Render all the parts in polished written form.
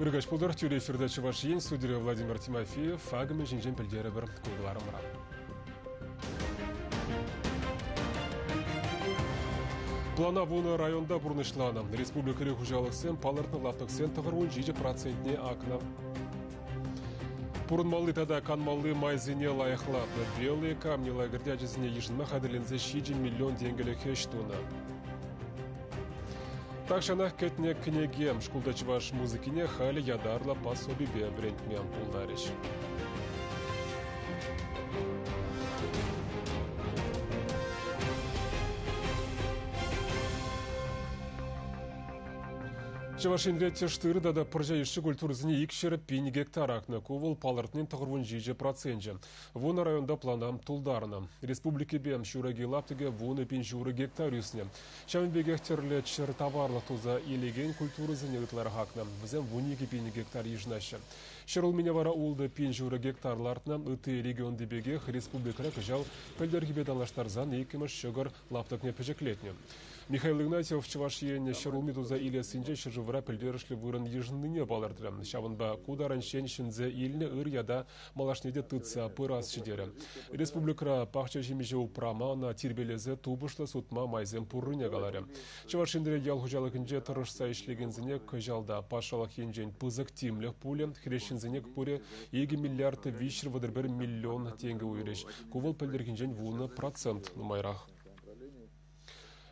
Ыркаҫ пултӑр, тӳрӗ эфирта Чӑваш Ен студире Владимир Тимофеев акӑмӗ ҫинчен пӗлтерӗпӗр ку кӑларӑмра. Плана вунӑ районта пурнӑҫланӑ. Республикӑри хуҫалӑхсем палӑртнӑ лаптӑксен 97 процентне акнӑ. Пурӑнмалли тата канмалли майсене лайӑхлатнӑ. Белые камни лагерьте ачасене йышӑнма хатӗрленсе 7 миллион тенкӗлӗх ӗҫ тунӑ. Тахҫанах кӗтнӗ кӗнеке шкулта чӑваш музыкине халӗ ятарлӑ пособипе вӗрентме пултарӗҫ. Чӑваш Енре тӗш тырӑ тата пӑрҫа йышши культурӑсене 200 гектар акнӑ. Ку вӑл палӑртнин 97 проценчӗ. Вунӑ районта плана тултарнӑ. Республикипе ҫураки лаптӑкӗ 10,5 гектар ӳснӗ. Ҫавӑн пекех тӗрлӗ чӗр таварлӑх туса илекен культурӑсене ытларах акнӑ. Вӗсем 12 000 гектар йышӑнаҫҫӗ. Ҫӗрулмине вара 6,5 гектар лартнӑ. Ытти регионти пекех республикӑра кӑҫал пӗлтӗрхипе танлаштарсан иккӗмӗш ҫӑкӑр лаптӑкне пӗчӗклетнӗ. Михаил Игнатьев Чӑваш Ен ҫӗрулми туса илессинче ҫӗршывра пӗлтерӗшлӗ вырӑн йышӑннине палӑртрӗ. Ҫавӑнпа ку таранччен ҫӗнсе илнӗ ыр ята малашне те тытса пырасчӗ терӗ. Республикӑра пахча ҫимӗҫе упрама, ӑна тирпейлесе тупӑшлӑ сутма майсем пуррине каларӗ. Чӑваш Енре ял хуҫалӑхӗнче тӑрӑшса ӗҫлекенсене кӑҫал та патшалӑх енчен пысӑк тимлӗх пулӗ. Хресченсене пурӗ 2 миллиард 331 миллион тенкӗ уйӑрӗҫ. Ку вӑл пӗлтӗрхинчен 10% нумайрах.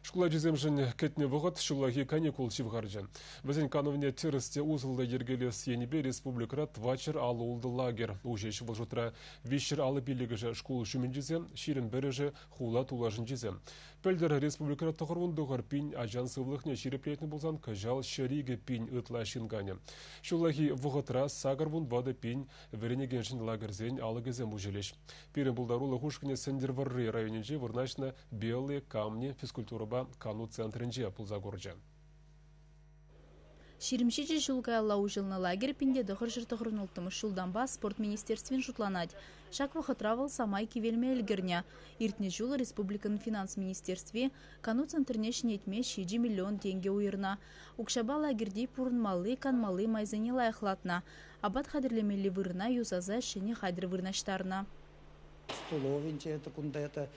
Шкул ачисемшӗн кӗтнӗ вӑхӑт ҫуллахи каникул ҫывхарчӗ. Вӗсен канӑвне тӗрӗс те усӑллӑ йӗркелес енӗпе республикӑра 456 лагерь уҫӗҫ. Вӑл шутра 355-ӗшӗ шкул ҫумӗнчисем, 21-ӗшӗ хула тулашӗнчисем. Пӗлтӗр республикӑра 99 пин ачан сывлӑхне ҫирӗплетнӗ пулсан кӑҫал 102 пин ытла ҫын канӗ. Ҫуллахи вӑхӑтра 84 пин вӗренекеншӗн лагерьсен алӑкӗсем уҫӑлӗҫ. Пирӗн пултарулӑх ушкӑнӗ Сӗнтӗрвӑрри районӗнче вырнаҫнӑ Белые камни физкультурӑпа кану центрӗнче пулса курчӗ. 27 ҫул каялла уҫӑлнӑ лагерь 1996 ҫултанпа спорт министерствин шутланать. Ҫак вӑхӑтра вӑл самай кивелме ӗлкӗрнӗ. Иртнӗ ҫул республикӑн финанс министерстви кану центрне ҫӗнетме 7 миллион тенкӗ уйӑрнӑ. Укҫапа лагерьти пурӑнмалли, канмалли майсене лайӑхлатнӑ. Апат хатӗрлемелли вырӑна юсаса ҫӗнӗ хатӗр вырнаҫтарнӑ. Столовӑйӗнче это кунта это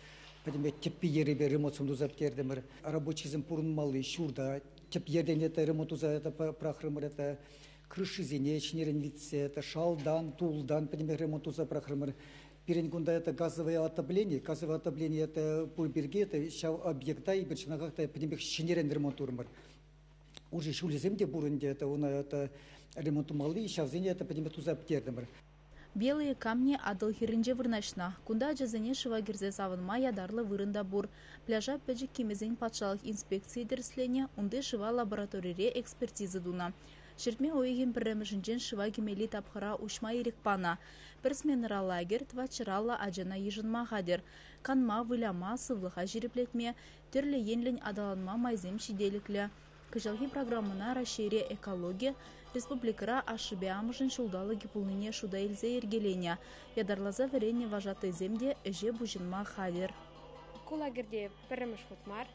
пӗтӗмпе тӗппи-йӗрӗпе ремонтсем туса пӗтертӗмӗр. Рабочисем пурӑнмалли ҫурта тӗп йӗртен это ремонт туса это пӑрахрӑмӑр это крышисене ҫӗнӗрен витсе это шалтан, тултан пӗтӗмпех ремонт туса пӑрахрӑмӑр. Пирӗн кунта это газовое отопление. Газовое отопление это пур пирки это ҫав объекта эпир чӑнахах та пӗтӗмпех ҫӗнӗрен ремонт турӑмӑр. Уже ҫулӗсем те пур ӗнтӗ, это уна это ремонт тумалли, ҫавсене это пӗтӗмпех туса пӗтертӗмӗр. Белые камни Атӑл хӗрринче вырнаҫнӑ. Кунта ачасене шыва кӗрсе савӑнма ятарлӑ вырӑн та пур. Пляжа пӗчӗк кимӗсен патшалӑх инспекцийӗ тӗрӗсленӗ, унти шыва лабораторире экспертиза тунӑ. Ҫӗртме уйӑхӗн пӗрремӗшӗнчен шыва кӗмелли тапхӑра уҫма ирӗк панӑ. Пӗр сменӑра лагерь 450 ачана йышӑнма хатӗр. Канма, выляма, сывлӑха ҫирӗплетме, тӗрлӗ енлӗн аталанма майсем ҫителӗклӗ. Кӑҫалхи программӑна Раҫҫейре экологи, республикӑра ашшӗпе амӑшӗн ҫулталӑкӗ пулнине шута илсе йӗркеленӗ. Ятарласа вӗреннӗ вожатӑйсем те ӗҫе пуҫӑнма хатӗр. Ку лагерьте пӗрремӗш хут мар.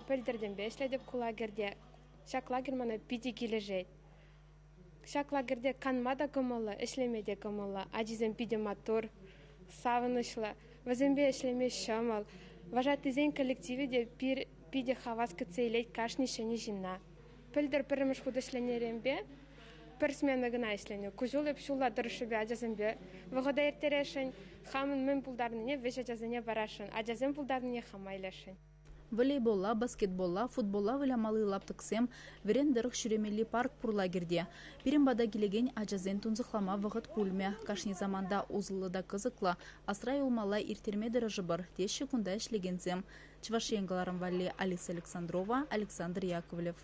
Пӗлтӗртенпе ӗҫлетӗп ку лагерьте. Ҫак лагерь мана питӗ килӗшет. Ҫак лагерьте канма та кӑмӑллӑ, ӗҫлеме те кӑмӑллӑ. Ачисем питӗ маттур, савӑнӑҫлӑ. Вӗсемпе ӗҫлеме ҫӑмӑл. Вожатыйсен коллективӗ те питӗ хавас кӗтсе илет кашни ҫӗнӗ ҫынна. Пӗлтӗр пӗрремӗш хут ӗҫленӗренпе пӗр смена кӑна ӗҫленӗ. Ку ҫул эп ҫулла тӑрӑшшӗпе ачасемпе вӑхӑта ирттересшӗн, хамӑн мӗн пултарнине вӗҫ ачасене парасшӑн, ачасем пултарнине хама илесшӗн. Волейболла, баскетболла, футболла вылямалли лаптӑксем, вӗрен тӑрӑх ҫӳремелли парк пур лагерьте. Пирӗн пата килекен ачасен тунсӑхлама вӑхӑт пулмӗ. Кашни саманта усӑллӑ та кӑсӑклӑ, асра юлмалла ирттерме тӑрӑшӑпӑр, теҫҫӗ кунта ӗҫлекенсем. Чӑваш Ен кӑларӑм валли Алиса Александрова, Александр Яковлев.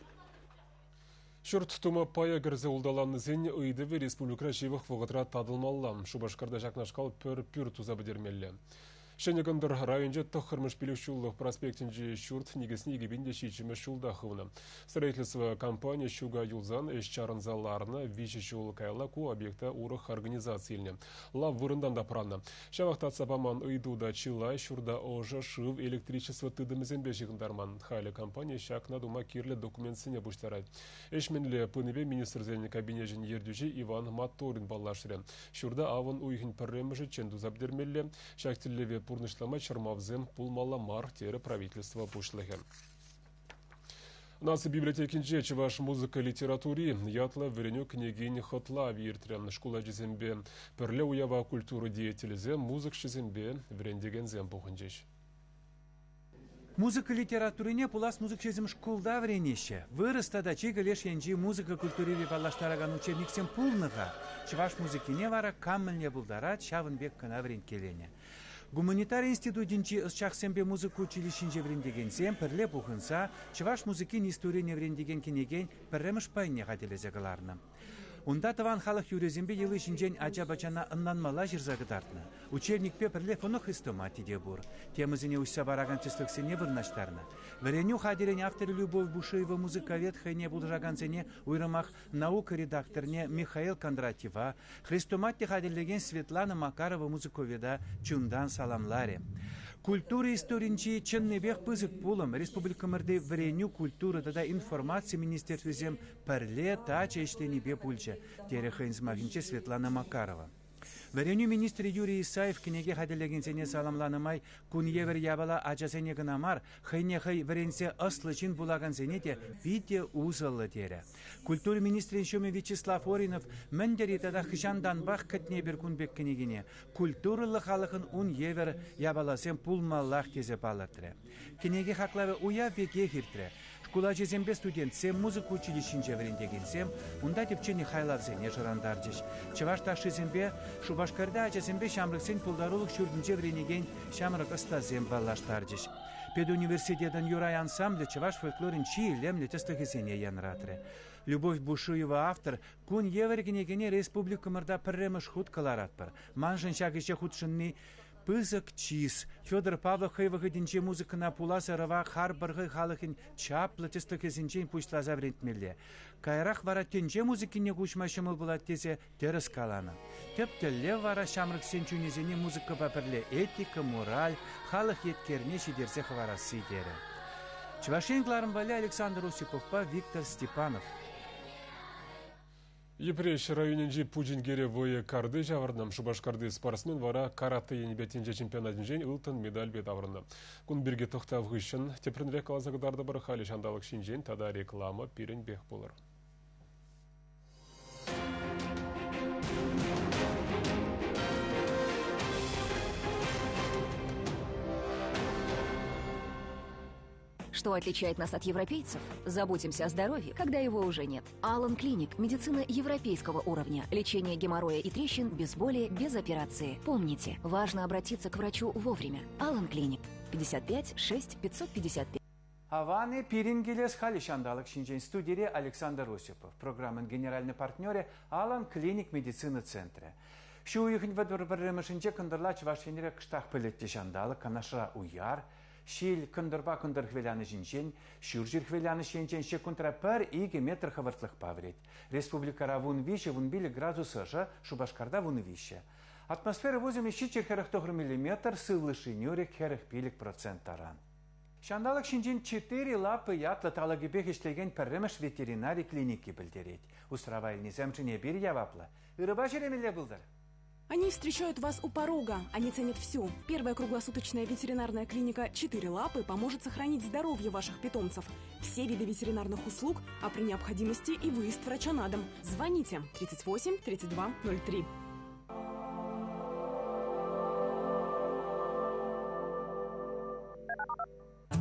Ҫурт тума пая кӗрсе улталаннисен ыйтӑвӗ республикӑра ҫывӑх вӑхӑтра татӑлмалла. Шупашкарта ҫакнашкал пӗр пӳрт туса пӗтермелле. Ҫӗнӗ Кӑнтӑр районӗнче тӑххӑрмӗш пилӗкҫуллӑх проспектӗнчи ҫурт никӗсне 2007 ҫулта хывнӑ. Строительство компанийӗ ҫука юлсан ӗҫ чарӑнса ларнӑ, 3 ҫул каялла ку объекта урӑх организаци илнӗ. Лав вырӑнтан тапраннӑ. Ҫавах татса паман ыйту та чылай ҫурта ӑшӑ, шыв, электричество тытӑмӗсемпе ҫыхӑнтарман. Халӗ компани ҫакна тума кирлӗ документсене пуҫтарать. Ӗҫ мӗнле пынипе министрсен кабинечӗн ертӳҫи Иван Моторин паллашрӗ. Ҫурта авӑн уйӑхӗн пӗрремӗшӗччен туса пӗтермелле. Ҫак тӗллеве пурнӑҫлама чӑрмавсем пулмалла мар, терӗ правительство пуҫлӑхӗ. Наци библиотекинче чӑваш музыка литератури ятлӑ вӗренӳ кӗнекин хӑтлавӗ иртрӗ. Шкул ачисемпе пӗрле уява культура деятелӗсем, музыкҫӑсемпе вӗрентекенсем пухӑнчӗҫ. Музыка литературине пулас музыкҫӑсем шкулта вӗренеҫҫӗ. Вырӑс тата чикӗ леш енчи музыка культурипе паллаштаракан учебниксем пулнӑ-ха. Чӑваш музыкине вара кам мӗнле пултарать, ҫавӑн пек кӑна вӗренткеленӗ. Гуманитари институтӗнчи ӑсчахсемпе музыка училищинче вӗрентекенсем пӗрле пухӑнса чӑваш музыкин историне вӗрентекен кӗнекен пӗрремӗш пайне хатӗрлесе кӑларнӑ. Унта тӑван халӑх юррисемпе йӑли ҫинчен ача-пӑчана ӑнланмалла ҫырса кӑтартнӑ. Учебникпе пӗрле фонохрестомати те пур. Темӑсене уҫса паракан тӗслӗхсене вырнаҫтарнӑ. Вӗренӳ хатӗрӗн авторӗ Любовь Бушуева музыковед хӑйне пулӑшакансене уйрӑмах наука редакторне Михаил Кондратьева, хрестомати хатӗрлекен Светлана Макарова музыковеда чунтан саламларӗ. Культура историнчи чӑннипех пысӑк пулӑм республикӑмӑрти вӗренӳ, культура тата информаци министерствисем пӗрле тачӑ ӗҫленипе пулчӗ, терӗ хӑйӗн сӑмахӗнче Светлана Макарова. Вӗренӳ министрӗ Юрий Исаев кӗнеке хатӗрлекенсене саламланӑ май кун евӗр япала ачасене кӑна мар, хӑйне хӑй вӗренсе ӑслӑ ҫын пулакансене те питӗ усӑллӑ терӗ. Культура министрӗн ҫумӗ Вячеслав Оринов мӗн тери тата хӑҫантанпах кӗтнӗ эпир кун пек кӗнекене, культурӑллӑ халӑхӑн ун евӗр япаласем пулмаллах тесе палӑртрӗ. Кӗнеке хаклавӗ уяв пекех иртрӗ. Шкул ачисемпе студентсем, музыка училищинче вӗрентекенсем унта тӗпченӗ хайлавсене шӑрантарчӗҫ. Чӑваш ташшисемпе Шупашкарта ачасемпе ҫамрӑксен пултарулӑх ҫуртӗнче вӗренекен ҫамрӑк ӑстасем паллаштарчӗҫ. Педуниверситетӑн Юрай ансамблӗ чӑваш фольклорӗн чи илемлӗ тӗслӗхӗсене янратрӗ. Любовь Бушуева автор кун евӗр кӗнекене республикӑмӑрта пӗрремӗш хут кӑларатпӑр. Маншӑн ҫак ӗҫе хутшӑнни пысӑк чыс. Федор Павлов хӑй вӑхӑтӗнче музыкӑна пулас ӑрӑва харпӑр хӑй халӑхӗн чаплӑ тӗслӗхӗсенчен пуҫласа вӗрентмелле. Каярах вара тӗнче музыкине куҫма ҫӑмӑл пулать тесе тӗрӗс каланӑ. Тӗп тӗллев вара ҫамрӑксен чунӗсене музыкӑпа пӗрле этика, мораль, халӑх еткерне ҫитерсе хӑварасси терӗ. Чӑваш Ен кӑларӑм валли Александр Осиповпа Виктор Степанов. Йӗпреҫ районӗнчи Пучинкере вӑйӑ карти ҫавӑрнӑ. Шупашкарти спортсмен вара каратэ енӗпе тӗнче чемпионатӗнчен ылтӑн медальпе таврӑннӑ. Кун пирки тӑхтав хыҫҫӑн тӗплӗнрех каласа кӑтартӑпӑр. Халӗ ҫанталӑк ҫинчен тата реклама пирӗнпех пулӑр. Что отличает нас от европейцев? Заботимся о здоровье, когда его уже нет. Алан Клиник – медицина европейского уровня. Лечение геморроя и трещин без боли, без операции. Помните, важно обратиться к врачу вовремя. Алан Клиник. 55 6 555. Аван-и пирӗн килес халӗ ҫанталӑк ҫинчен студире Александр Осипов, программӑн генеральнӑй партнерӗ Алан Клиник медицина центрӗ. Ҫу уйӑхӗн вӑтӑр пӗрремӗшӗнче кӑнтӑрла Чӑваш Енре кӑштах пӗлӗтлӗ ҫанталӑк, Канашра уяр, Ҫил кӑнтӑрпа кӑнтӑр хӗвеланӑҫӗнчен, ҫурҫӗр хӗвеланӑҫ енчен ҫеккунтра пӗр-икӗ метр хӑвӑртлӑхпа вӗрет. Республикӑра 13-15 градус ӑшӑ, Шупашкарта 13. Атмосфера пусӑмӗ 749 миллиметр, сывлӑш нӳрӗк 45% таран. Ҫанталӑк ҫинчен Четыре лапы ятлӑ талӑкӗпех ӗҫлекен пӗрремӗш ветеринари клиники пӗлтерет. Усрава илнисемшӗн эпир яваплӑ. Ырӑпа ҫӳремелле пултӑр. Они встречают вас у порога. Они ценят все. Первая круглосуточная ветеринарная клиника «Четыре лапы» поможет сохранить здоровье ваших питомцев. Все виды ветеринарных услуг, а при необходимости и выезд врача на дом. Звоните 38 32 03.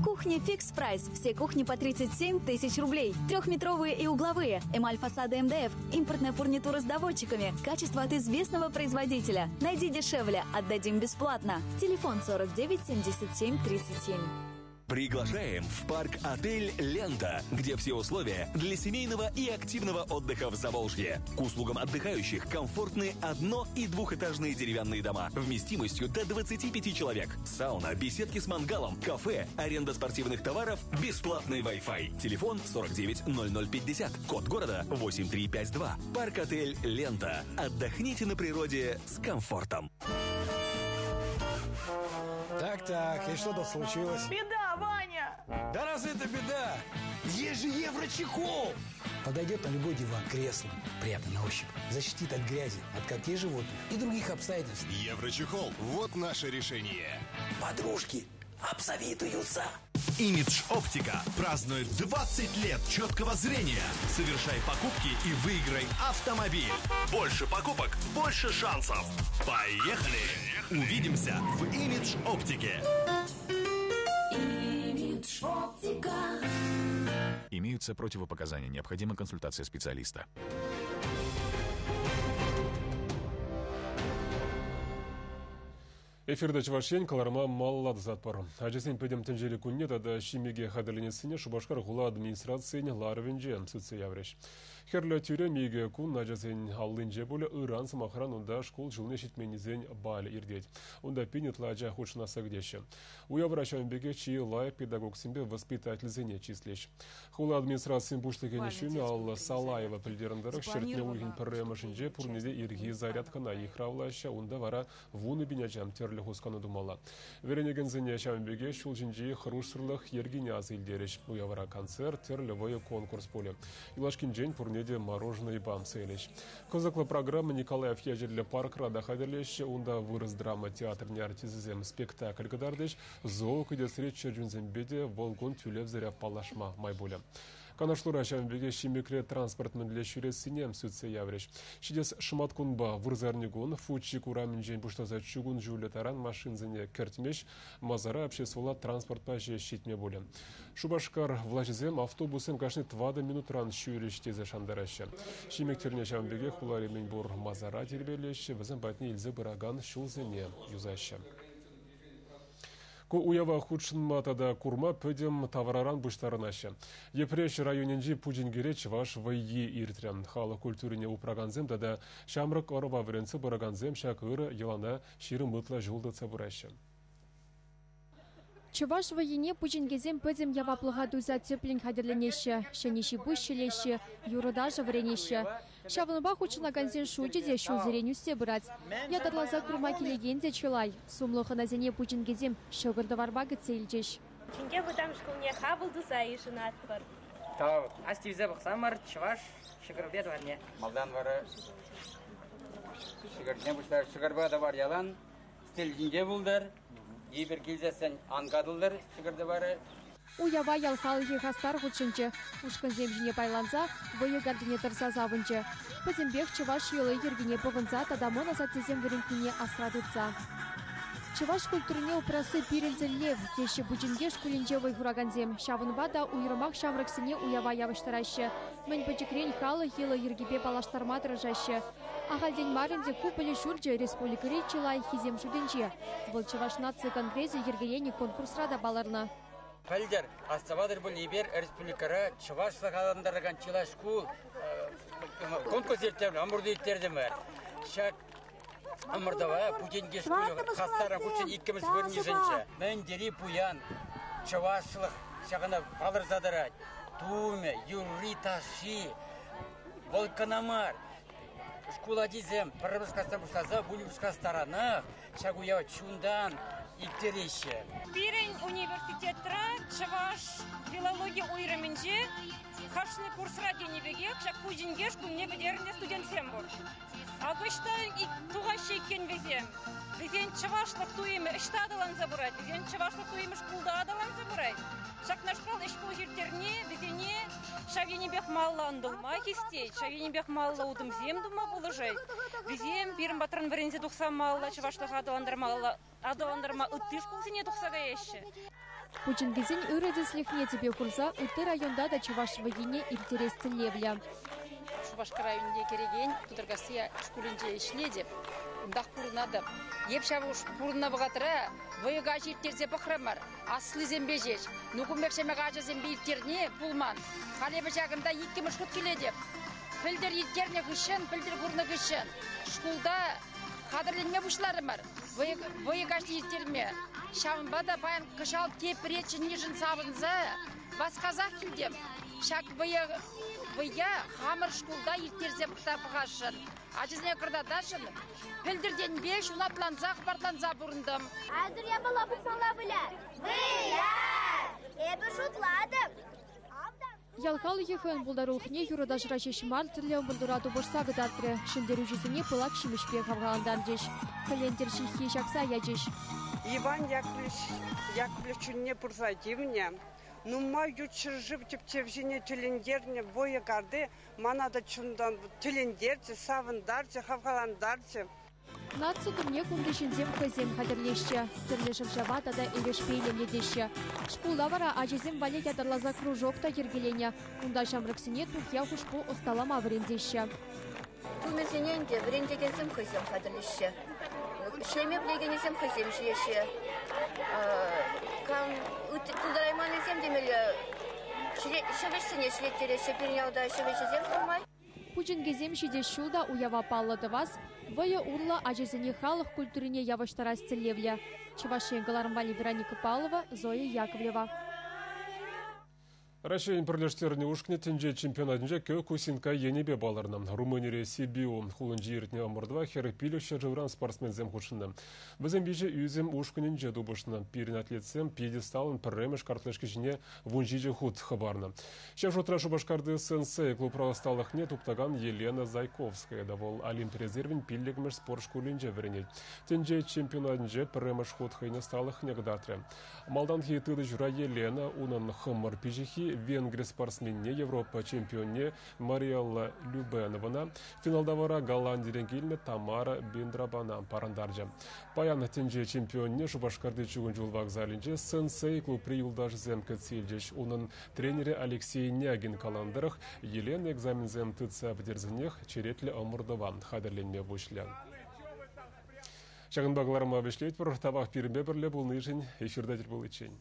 Кухня Фикс Прайс. Все кухни по 37 тысяч рублей. Трехметровые и угловые. Эмаль фасада МДФ. Импортная фурнитура с доводчиками. Качество от известного производителя. Найди дешевле. Отдадим бесплатно. Телефон 49 77 37. Приглашаем в парк-отель «Лента», где все условия для семейного и активного отдыха в Заволжье. К услугам отдыхающих комфортны одно- и двухэтажные деревянные дома вместимостью до 25 человек. Сауна, беседки с мангалом, кафе, аренда спортивных товаров, бесплатный Wi-Fi. Телефон 49 0050, код города 8352. Парк-отель «Лента». Отдохните на природе с комфортом. Так-так, и что тут случилось? Беда, Ваня! Да разве это беда? Есть же еврочехол! Подойдет на любой диван, кресло. Приятно на ощупь. Защитит от грязи, от когтей животных и других обстоятельств. Еврочехол. Вот наше решение. Подружки обзавидуются. Имидж Оптика празднует 20 лет четкого зрения. Совершай покупки и выиграй автомобиль. Больше покупок, больше шансов. Поехали! Увидимся в Имидж Оптике. Имидж Оптика. Имеются противопоказания. Необходима консультация специалиста. Эфирде Чӑваш Ен кӑларӑма малалла тӑсатпӑр. Ачасен пӗтӗм тӗнчери кунне тата Ҫимӗке хатӗрленессине Шупашкар хула администрацийӗн ларӑвӗнче сӳтсе яврӗҫ. Хӗрлӗ тӳрем икӗ кун ачасен аллинче пулӗ. Ыран, сӑмахран, унта шкул ҫулне ҫитменнисен балӗ иртет. Унта пин ытла ача хутшӑнасса кӗтеҫҫӗ. Уявра ҫавӑн пекех чи лайӑх педагогсемпе воспитательсене чыслӗҫ. Хула администрацийӗн пуҫлӑхӗн ҫумӗ Алла Салаева пӗлтернӗ тӑрӑх, ҫӗртме уйӑхӗн пӗрремӗшӗнче пурне те ирхи зарядкӑна йыхравлаҫҫӗ. Унта вара 10,000 ача тӗрлӗ хускану тумалла. Вӗренекенсене ҫавӑн пекех ҫул ҫинчи хӑрушсӑрлӑх йӗркине аса илтерӗҫ. Уявра концерт, тӗрлӗ вӑйӑ конкурс пулӗ. Юлашкинчен пурне те мороженӑйпа сӑйлӗҫ. Кӑсӑклӑ программа Николаев ячӗллӗ паркра та хатӗрлеҫҫӗ. Унта вырӑс драма театрӗн артисчӗсем спектакль кӑтартӗҫ. Зоокӗтесри чӗрчунсемпе те вӑл кун тӳлевсӗрех паллашма май пулӗ. Канашлура ҫавӑн пекех Ҫимӗкре транспорт мӗнле ҫӳрессине сӳтсе яврӗҫ. Ҫитес шӑматкунпа вырсарникун Фучик урамӗнчен пуҫласа чукун ҫулӗ таран машинсене кӗртмӗҫ, масара обществӑлла транспортпа ҫеҫ ҫитме пулӗ. Шупашкар влаҫӗсем автобуссем кашни тӑватӑ минутран ҫӳрӗҫ тесе шантараҫҫӗ. Ҫимӗк тӗлне ҫавӑн пекех хулари мӗнпур масара тирпейлеҫҫӗ, вӗсем патне илсе пыракан ҫулсене юсаҫҫӗ. Ку уява хутшӑнма тата курма пӗтӗм тавраран пуҫтарӑнаҫҫӗ. Йӗпреҫ районӗнчи Пучинкере чӑваш вӑййи иртрӗ. Халӑх культурине упракансем тата ҫамрӑк ӑрӑва вӗрентсе пыракансем ҫак ырӑ йӑлана 20 ытла ҫул тытса пыраҫҫӗ. Чӑваш вӑййине пучинкесем пӗтӗм яваплӑха туйса тӗплӗн хатӗрленеҫҫӗ. Ҫӗнӗ ҫи-пуҫ ҫӗлеҫҫӗ, юрӑ-ташӑ вӗренеҫҫӗ. Ҫавӑнпа хутшӑнакансен шучӗ те ҫулсерен ӳссе пырать. Ятарласа курма килекен те чылай. Сумлӑ хӑнасене пучинкесем ҫӑкӑр-тӑварпа кӗтсе илчӗҫ. Пучинке вӑтам шкулне хапӑл туса йышӑнатпӑр. Тав. Астивсе пӑхсамӑр чӑваш ҫӑкӑрпе тӑварне. Малтан вара ҫӑкӑрне пуҫлар. Ҫӑкӑрпа тӑвар ялан сӗтел ҫинче пултӑр. Эпир килсессӗн ан катӑлтӑр ҫӑкӑр-тӑварӗ. Уява ял халӑхӗ хастар хутшӑнчӗ. Ушкӑнсем ҫине пайланса вӑйӑ картине тӑрса савӑнчӗ. Пӗтӗмпех чӑваш йӑли-йӗркине пӑхӑнса тата мӑн асаттесем вӗрентнине асра тытса. Чӑваш культурине упрасси пирӗн тӗллев, теҫҫӗ Пучинке шкулӗнче вӑй хуракансем. Ҫавӑнпа та уйрӑмах ҫамрӑксене уява явӑҫтараҫҫӗ. Мӗн пӗчӗкрен халӑх йӑли-йӗркипе паллаштарма тӑрӑшаҫҫӗ. Ахальтен мар ӗнтӗ ку пӗлӳ ҫурчӗ республикӑри чи лайӑххисем шутӗнче. Вӑл Чӑваш наци конгресӗ йӗркеленӗ конкурсра та палӑрнӑ. Пӗлтӗр, астӑватӑр пуль, эпир республикӑра чӑвашлӑх аталантаракан чылай шкул конкурс ирттернӗ, ӑмӑрту ирттертӗмӗр. Ҫак ӑмӑртӑва Путинке шкулӗ хастара хутшӑн иккӗмӗш вырӑн йышӑнчӗ. Мӗн тери пуян чӑвашлӑх ҫакна палӑрса тӑрать. Тумӗ, юрри-ташши, вӑл кӑна мар. Шкул ачисем пӗрремӗш класран пуҫласа вуннӑмӗш класс таранах ҫак уява чунтан ирттереҫҫӗ. Пирӗн университетра чӑваш филологи уйрӑмӗнче кашни курсра тенӗ пекех ҫак Пучинке шкулне пӗтернӗ студентсем пур. Акӑ ӑҫта тухаҫҫӗ иккен вӗсем. Вӗсен чӑвашлӑх туйӑмӗ ӑҫта аталанса пырать? Вӗсен чӑвашлӑх туйӑмӗ шкулта аталанса пырать. Ҫакнашкал ӗҫ-пуҫ ирттерни вӗсене ҫав енӗпех малалла ӑнтӑлма хистет, ҫав енӗпех малалла утӑмсем тума пулӑшать. Вӗсем пирӗн патран вӗренсе тухса малалла чӑвашлӑха аталантарма ытти шкулсене тухса каяҫҫӗ. Пучинкесен ырӑ тӗслӗхне тӗпе хурса ытти районта та чӑваш вӑййине ирттерес тӗллевлӗ. Шупашкар районӗнче кӗрекен Тутаркасси шкулӗнче ӗҫлетӗп. унтах пурӑнатӑп. Эп ҫав пурӑннӑ вӑхӑтра вӑйӑ каҫ ирттерсе пӑхрӑмӑр. Аслисемпе ҫеҫ. Ну, кун пек ҫамрӑк ачасемпе ирттерни пулман. Халь эпӗ ҫакӑнта иккӗмӗш хут килетӗп. Пӗлтӗр ирттернӗ хыҫҫӑн, пӗлтӗр курнӑ хыҫҫӑн шкулта хатӗрленме пуҫларӑмӑр вӑйӑ каҫне ирттерме. Ҫавӑнпа та паян кӑҫал тепре чӗннишӗн савӑнса васкасах килтӗм. Ҫак вӑййа хамӑр шкулта ирттерсе пӑхасшӑн. Ачасене кӑтартасшӑн. Пӗлтӗртенпе ҫунатланса, хӑпартланса пурӑнтӑм. Айтӑр япала пухмалла выляр. Выляр! Эпӗ шутлатӑп. Ял халӑхӗ хӑйӗн пултарулӑхне юрӑ-ташӑра ҫеҫ мар, тӗрлӗ ӑмӑртура тупӑшса кӑтартрӗ. Ҫӗнтерӳҫӗсене пылак ҫимӗҫпе хавхалантарчӗҫ. Кӗлентӗр ҫыххи ҫакса ячӗҫ. Иван Яковлевич Яковлев чунне пырса тивнӗ, нумай ют ҫӗршыв тӗпчевҫине тӗлӗнтернӗ вӑйӑ карти мана та чунтан тӗлӗнтерчӗ, савӑнтарчӗ, хавхалантарчӗ. Наци тумне кунти ҫынсем хӑйсем хатӗрлеҫҫӗ. Тӗрлӗ шӑв-шава тата эрешпе илемлетеҫҫӗ. Шкулта вара ачасем валли ятарласа кружок та йӗркеленӗ. Унта ҫамрӑксене тухья-хушпу ӑсталама вӗрентеҫҫӗ. Тумӗсене ӗнтӗ вӗрентекенсем хӑйсем хатӗрлеҫҫӗ. Ӗҫлеме пӗлекеннисем хӑйсем ҫиеҫҫӗ. Кам пултарайманнисем темелле ҫӗвӗҫсене ӗҫлеттереҫҫӗ. Пирӗн ялта ҫӗвӗҫӗсем нумай. Пучинкесем ҫитес ҫул та уява паллӑ тӑвас, вӑйӑ урлӑ ачасене халӑх культурине явӑҫтарас тӗллевлӗ. Чӑваш Ен кӑларӑм валли Вероника Павлова, Зоя Яковлева. Раҫҫейӗн пӗрлештернӗ ушкӑнӗ тӗнче чемпионатӗнче Кёкусинка енӗпе палӑрнӑ. Румынире Сибиу хулинче иртнӗ ӑмӑртӑва 45 ҫӗршывран спортсменсем хутшӑннӑ. Вӗсем виҫӗ ӳсӗм ушкӑнӗнче тупӑшнӑ. Пирӗн атлетсем пьедесталӑн пӗрремӗш картлашки ҫине 17 хут хӑпарнӑ. Ҫав шутра Шупашкарти «Сенсей» клубра ӑсталӑхне туптакан Елена Зайковская та вӑл Олимп резервӗн пиллӗкмӗш спорт шкулӗнче вӗренет. Тӗнче чемпионатӗнче пӗрремӗш хут хӑйӗн ӑсталӑхне кӑтартрӗ. Малтанхи тытӑҫура Елена унӑн хӑмӑр пиҫиххи Венгри спортсменне Европа чемпионне Мариэлла Любеновӑна, финалта вара Голландирен килнӗ Тамара Бендрабана парӑнтарчӗ. Паян тӗнче чемпионне Шупашкарти чукун ҫул вокзалӗнче «Сенсей» клубри юлташӗсем кӗтсе илчӗҫ. Унӑн тренерӗ Алексей Нягин каланӑ тӑрӑх, Елена экзаменсем тытса пӗтерсенех черетлӗ ӑмӑртӑва хатӗрленме пуҫлӗ. Ҫакӑнпа кӑларӑма вӗҫлетпӗр. Тавах пирӗнпе пӗрле пулнишӗн эфирта тӗл пуличчен.